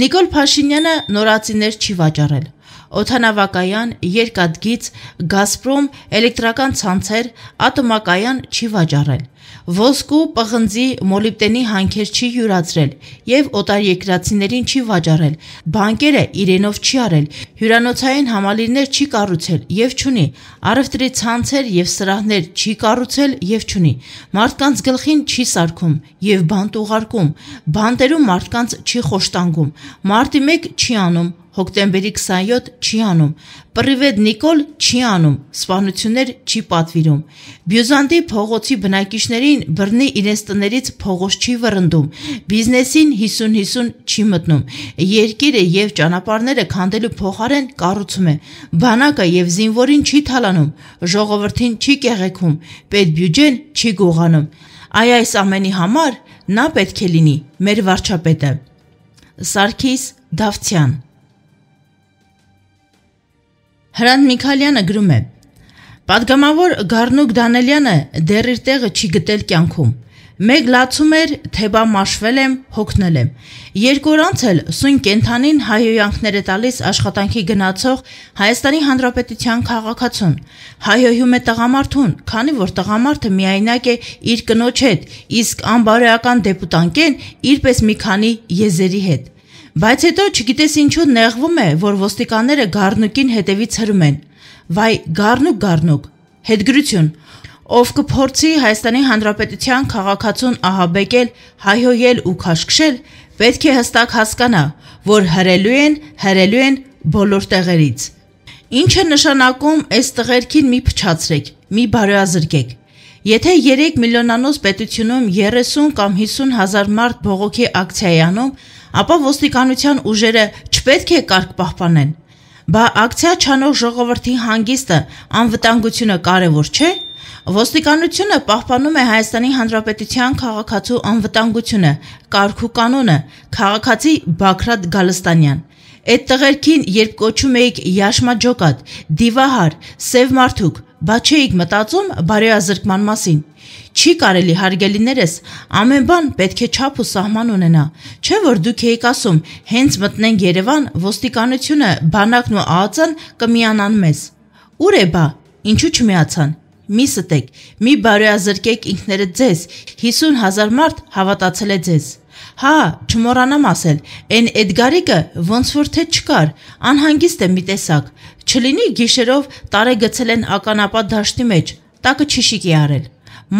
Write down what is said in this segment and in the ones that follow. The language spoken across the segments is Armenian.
Նիկոլ Փաշինյանը նորացիներ չի վաճառել։ Օդանավակայան, երկաթգիծ, Գազպրոմ, էլեկտրական ցանցեր, ատոմակայան չի վաճառել։ Ոսկու, պղնձի, մոլիբդենի հանքեր չի յուրացրել եւ օտարերկրացիներին չի վաճառել։ Բանկերը իրենով չի արել, հյուրանոցային համալիրներ չի կառուցել եւ չունի։ Առևտրի ցանցեր եւ սրահներ չի կառուցել եւ չունի։ Մարդկանց գլխին չի սարքում եւ բանտ ուղարկում։ Բանտերում մարդկանց չի խոշտանգում։ Մարտի 1 չի անում, հոկտեմբերի 27 չի անում, Պրիվետ Նիկոլ չի անում, սպանություններ չի պատվիրում, Բյուզանդի փողոցի բնակիչներին բռնի իրենց տներից փողոց չի վռնդում, բիզնեսին 50-50 չի մտնում, երկիրը եւ ճանապարհները քանդելու փոխարեն կառուցում է, բանակը եւ զինվորին չի թալանում, ժողովրդին չի կեղեքում, պետբյուջեն չի գողանում, այս ամենի համար նա պետք է լինի մեր վարչապետը։ Սարգիս Դավթյան Հրանտ Միքայելյանը գրում է. Պատգամավոր Գառնուկ Դանելյանը դեռ իր տեղը չի գտել կյանքում։ Մեկ լացում էր, թե բա մաշվել եմ, հոգնել եմ։ Երկու օր անց էլ սույն կենթանին հայհոյանքներ է տալիս աշխատանքի գնացող Հայաստանի Հանրապետության քաղաքացուն։ Հայհոյում է տղամարդուն, քանի որ տղամարդը միայնակ է իր կնոջ հետ, իսկ անբարոյական դեպուտանկեն իրպես մի քանի եզերի հետ։ Բայց հետո չգիտես ինչու նեղվում է, որ ոստիկանները Գառնուկին հետևից հրում են։ Վայ, Գառնուկ, հետգրություն, ով կփորձի Հայաստանի Հանրապետության քաղաքացուն ահաբեկել, հայհոյել ու քաշքշել, պետք է հստակ հասկանա, որ հրելու են բոլոր տեղերից։ Ինչ է նշանակում այս տղերքին մի փչացրեք, մի բարոյազրկեք։ Եթե 3 միլիոնանոց պետությունում 30 կամ 50 հազար մարդ բողոքի ակցիա է անում, ապա ոստիկանության ուժերը չպետք է կարգ պահպանեն։ Բա ակցիա չանող ժողովրդի հանգիստը, անվտանգությունը կարևոր չէ։ Ոստիկանությունը պահպանում է Հայաստանի Հանրապետության քաղաքացու անվտանգությունը, կարգ ու կանոնը, քաղաքացի Բագրատ Գալստանյան։ Այդ տղերքին երբ կոչում էիք Յաշմաջոկատ, Դիվահար, Սև մարդուկ, բա չէիք մտածում բարոյազրկման մասին։ Չի կարելի հարգելիներս, ամեն բան պետք է չափ ու սահման ունենա, չէ որ դուք եք ասում, հենց մտնենք Երևան, ոստիկանությունը, բանակն ու ԱԱԾ-ն կմիանան մեզ։ Ուր է բա, ինչու չմիացան։ Մի ստեք, մի բարոյազրկեք ինքներդ ձեզ, 50 հազար մարդ հավատացել է ձեզ։ Հա, չմոռանամ ասել, այն Էդգարիկը ոնց որ թե չկար, անհանգիստ է մի տեսակ, չլինի գիշերով տարեգցել են ականապատ դաշտի մեջ, տակը չիշիկի արել։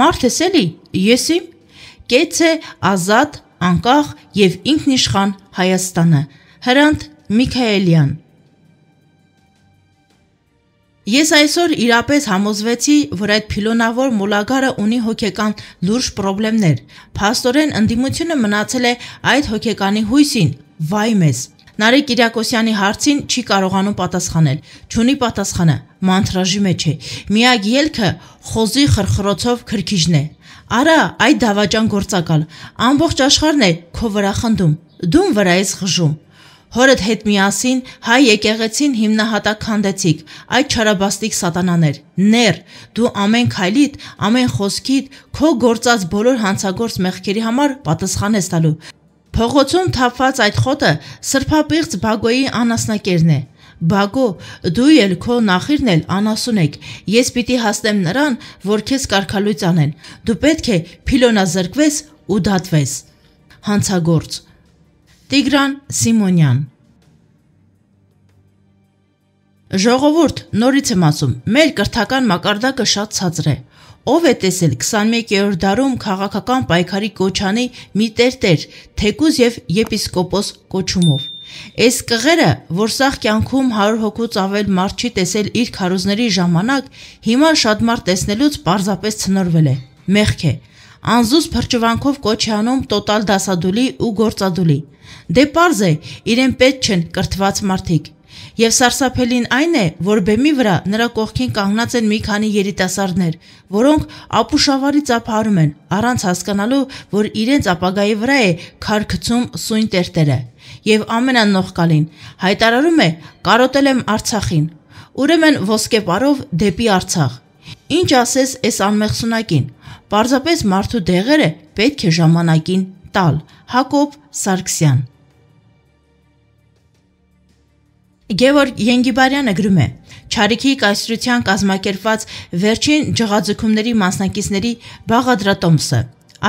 Մարդ ես էլի, ես իմ, կեց է ազատ, անկախ և ինքնիշխան Հայաստանը։ Հրանտ Միքայելյան Ես այսօր իրապես համոզվեցի, որ այդ փիլոնավոր մոլագարը ունի հոգեկան լուրջ պրոբլեմներ, փաստորեն ընդդիմությունը մնացել է այդ հոգեկանի հույսին, վայ մեզ։ Նարեկ Կիրակոսյանի հարցին չի կարողանում պատասխանել, չունի պատասխանը, մանթրաժի մեջ է, միակ ելքը խոզի խրխրոցով քրքիջն է։ Արա, այդ դավաճան գործակալ, ամբողջ աշխարհն է քո վրա խնդում, դու վրա ես խժում։ Հորդ հետ միասին հայ եկեղեցին հիմնահատակ քանդեցիք, այդ չարաբաստիկ սատանաներ, ներ, դու ամեն քայլիդ, ամեն խոսքիդ, քո գործած բոլոր հանցագործ մեղքերի համար պատասխան ես տալու։ Փողոցում թափված այդ խոտը սրբապիղծ Բագոյի անասնակերն է։ Բագո, դու էլ քո նախիրն էլ անասուն եք, ես պիտի հասնեմ նրան, որ քեզ կարգալույծ անեն, դու պետք է փիլոնազրկվես ու դատվես։ Հանցագործ Տիգրան Սիմոնյան Ժողովուրդ, նորից եմ ասում, մեր կրթական մակարդակը շատ ցածր է։ Ով է տեսել 21-րդ դարում քաղաքական պայքարի կոչանի մի տերտեր, թեկուզ եւ եպիսկոպոս կոչումով։ Այս կղերը, որ սաղ կյանքում 100 հոգուց ավել մարդ չի տեսել իր քարոզների ժամանակ, հիմա շատ մարդ տեսնելուց պարզապես ցնորվել է։ Մեղք է։ Անզուս փրճվանքով կոչ է անում տոտալ դասադուլի ու գործադուլի։ Դե պարզ է, իրեն պետք չեն կրթված մարդիկ։ Եվ սարսափելին այն է, որ բեմի վրա նրա կողքին կանգնած են մի քանի երիտասարդներ, որոնք ապուշավարի ծափարում են, առանց հասկանալու, որ իրենց ապագայի վրա է քար գցում սույն տերտերը։ Եվ ամենանողկալին հայտարարում է՝ կարոտել եմ Արցախին, ուրեմն ոսկեպարով դեպի Արցախ։ Ինչ ասես այս անմեղսունակին, պարզապես մարդու դեղերը պետք է ժամանակին տալ։ Հակոբ Սարգսյան Գևորգ Ենգիբարյանը գրում է. Չարիքի կայսրության կազմակերպված վերջին ջղաձգումների մասնակիցների բաղադրատոմսը։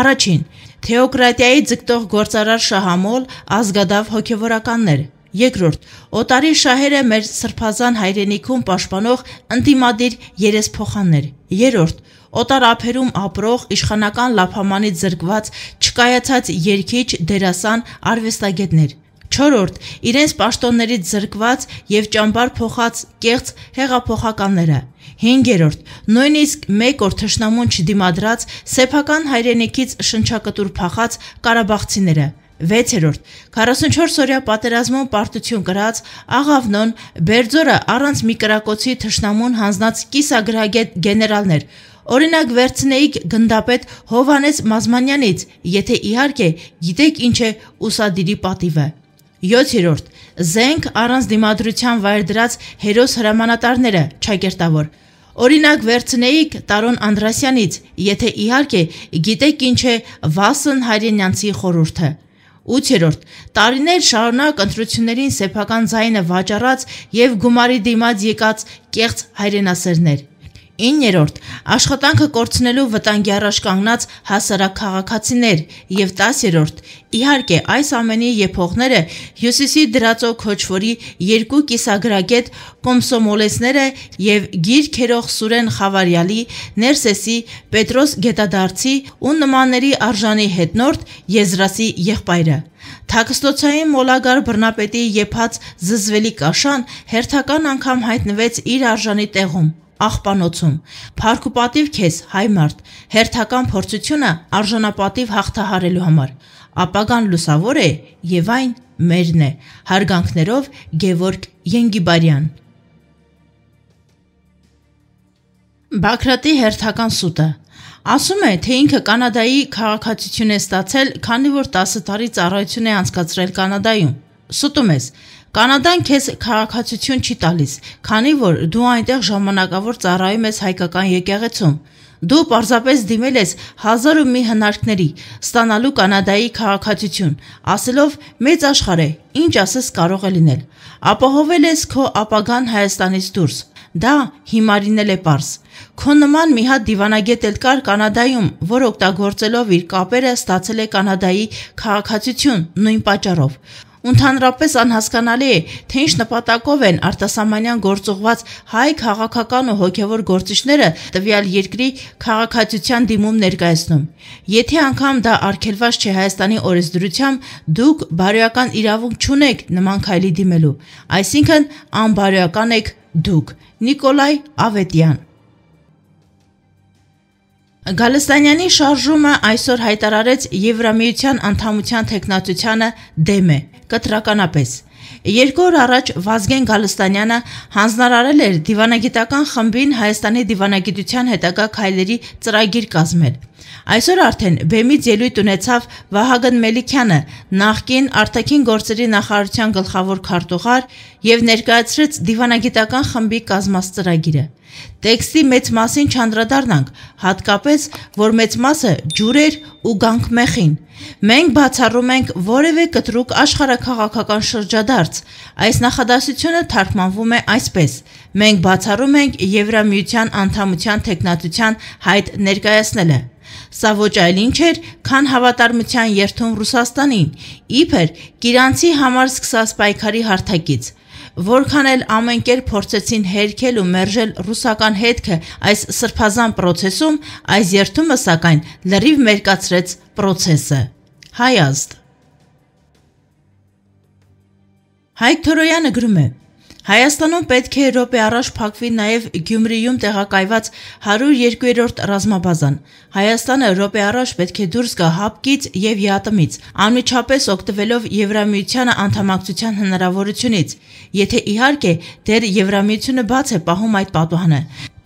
Առաջին. թեոկրատիայի ձգտող գործարար շահամոլ, ազգադավ հոգևորականներ։ Երկրորդ. օտարի շահերը մեր սրբազան հայրենիքում պաշտպանող ընդդիմադիր երեսփոխաններ։ Երրորդ. օտար ափերում ապրող իշխանական լափամանից զրկված չկայացած երգիչ, դերասան, արվեստագետներ։ Չորրորդ. իրենց պաշտոններից զրկված եւ ճամբար փոխած կեղծ հեղափոխականները։ Հինգերորդ. նույնիսկ մեկ օր թշնամուն չդիմադրած սեփական հայրենիքից շնչակտուր փախած ղարաբաղցիները։ Վեցերորդ. 44-օրյա պատերազմում պարտություն կրած Աղավնոն, Բերձորը առանց մի կրակոցի թշնամուն հանձնած կիսագրագետ գեներալներ։ Օրինակ վերցնեիք գնդապետ Հովհաննես Մազմանյանից, եթե իհարկե գիտեք ինչ է ուսադիրի պատիվը։ 7-րդ. զենք առանց դիմադրության վայր դրած հերոս հրամանատարները, ճակերտավոր։ Օրինակ վերցնեիք Տարոն Անդրասյանից, եթե իհարկե գիտեք ինչ է Վասն Հայրենյանցի խորհուրդը։ 8-րդ. տարիներ շարունակ ընտրություններին սեփական ձայնը վաճառած եւ գումարի դիմաց եկած կեղծ հայրենասերներ։ 9-րդ. աշխատանքը կորցնելու վտանգի առաջ կանգնած հասարակ քաղաքացիներ։ Եվ 10-րդ. իհարկե այս ամենի եփողները Հյուսիսի դրածո քոչվորի երկու կիսագրագետ կոմսոմոլեցները եւ գիրքերող Սուրեն Խավարյալի, Ներսեսի, Պետրոս Գետադարձի ու նմանների արժանի հետնորդ Եզրասի եղբայրը։ Թաքստոցային մոլագար բռնապետի եփած զզվելի կաշան հերթական անգամ հայտնվեց իր արժանի տեղում։ Աղբանոցում։ Փառք ու պատիվ քեզ, հայ մարդ, հերթական փորձությունը արժանապատիվ հաղթահարելու համար։ Ապագան լուսավոր է եւ այն մերն է։ Հարգանքներով Գևորգ Ենգիբարյան։ Բագրատի հերթական սուտը։ Ասում է, թե ինքը Կանադայի քաղաքացիություն է ստացել, քանի որ 10 տարի ծառայություն է անցկացրել Կանադայում։ Սուտում ես։ Կանադան քեզ քաղաքացիություն չի տալիս, քանի որ դու այնտեղ ժամանակավոր ծառայում ես հայկական եկեղեցում։ Դու պարզապես դիմել ես 1001 հնարքների, ստանալու Կանադայի քաղաքացիություն, ասելով մեծ աշխարհ է, ինչ ասես կարող է լինել։ Ապահովել ես քո ապագան Հայաստանից դուրս։ Դա հիմարինել է պարզ։ Քո նման մի հատ դիվանագետ էլ կար Կանադայում, որ օգտագործելով իր կապերը ստացել է Կանադայի քաղաքացիություն նույն պատճառով։ Ընդհանրապես անհասկանալի է, թե ինչ նպատակով են արտասահմանյան գործուղված հայ քաղաքական ու հոգևոր գործիչները տվյալ երկրի քաղաքացիության դիմում ներկայացնում։ Եթե անգամ դա արգելված չէ Հայաստանի օրենսդրությամբ, դուք բարոյական իրավունք չունեք նման քայլի դիմելու, այսինքն անբարոյական եք դուք։ Նիկոլայ Ավետյան։ Գալստանյանի շարժումը այսօր հայտարարեց Եվրամիության անդամության թեկնածությանը դեմ է, կտրականապես։ 2 օր առաջ Վազգեն Գալստանյանը հանձնարարել էր դիվանագիտական խմբին Հայաստանի դիվանագիտության հետագա քայլերի ծրագիր կազմել։ Այսօր արդեն բեմից ելույթ ունեցավ Վահագն Մելիքյանը, նախկին արտաքին գործերի նախարարության գլխավոր քարտուղար, եւ ներկայացրեց դիվանագիտական խմբի կազմած ծրագիրը։ Տեքստի մեծ մասին չանդրադառնանք, հատկապես, որ մեծ մասը ջուր էր ու գանք մեխին։ Մենք բացառում ենք որևէ կտրուկ աշխարհաքաղաքական շրջադարձ։ Այս նախադասությունը թարգմանվում է այսպես. մենք բացառում ենք Եվրամիության անդամության թեկնածության հայտ ներկայացնելը։ Սա ոչ այլ ինչ էր, քան հավատարմության երդում Ռուսաստանին, իբր Կիրանցի համար սկսած պայքարի հարթակից։ Որքան էլ ամեն կերպ փորձեցին հերքել ու մերժել ռուսական հետքը այս սրբազան պրոցեսում, այս երդումը սակայն լրիվ մերկացրեց պրոցեսը։ Հայազդ։ Հայկ Թորոյանը գրում է. Հայաստանում պետք է րոպե առաջ փակվի նաև Գյումրիում տեղակայված 102-րդ ռազմաբազան։ Հայաստանը րոպե առաջ պետք է դուրս գա ՀԱՊԿ-ից եւ ԵԱՏՄ-ից, անմիջապես օգտվելով Եվրամիությանը անդամակցության հնարավորությունից, եթե իհարկե դեռ Եվրամիությունը բաց է պահում այդ պատուհանը,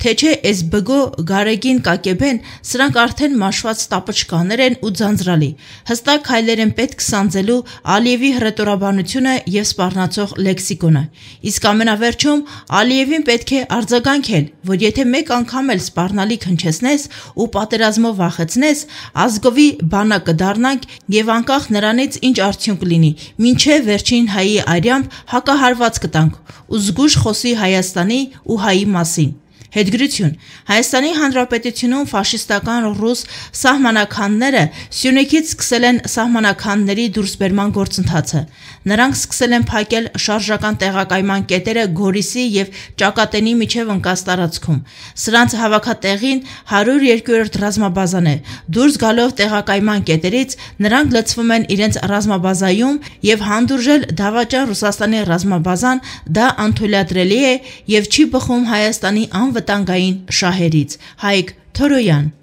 թե չէ էս բգո գարեգին կակեբեն, սրանք արդեն մաշված տապչկաներ են ու ձանձրալի, հստակ հայլեր են պետք սանձելու Ալիևի հռետորաբանությունը և սպառնացող լեքսիկոնը, իսկ ամենավերջում Ալիևին պետք է արձագանքել, որ եթե մեկ անգամ էլ սպառնալիք հնչեցնես ու պատերազմով վախեցնես, ազգովի բանա կդառնանք և անկախ նրանից ինչ արդյունք լինի, մինչև վերջին հայի արյամբ հակահարված կտանք ու զգույշ խոսի Հայաստանի ու հայի մասին։ Հետգրություն. Հայաստանի Հանրապետությունում ֆաշիստական ռուս սահմանականները Սյունիքից սկսել են սահմանականների դուրսբերման գործընթացը։ Նրանք սկսել են փակել շարժական տեղակայման կետերը Գորիսի և Ճակատենի միջև ընկած տարածքում։ Սրանց հավաքատեղին 102-րդ ռազմաբազան է։ Դուրս գալով տեղակայման կետերից նրանք լցվում են իրենց ռազմաբազայում և հանդուրժել դավաճան Ռուսաստանի ռազմաբազան դա անթույլատրելի է և չի բխում Հայաստանի անվտանգային շահերից։ Հայկ Թորոյան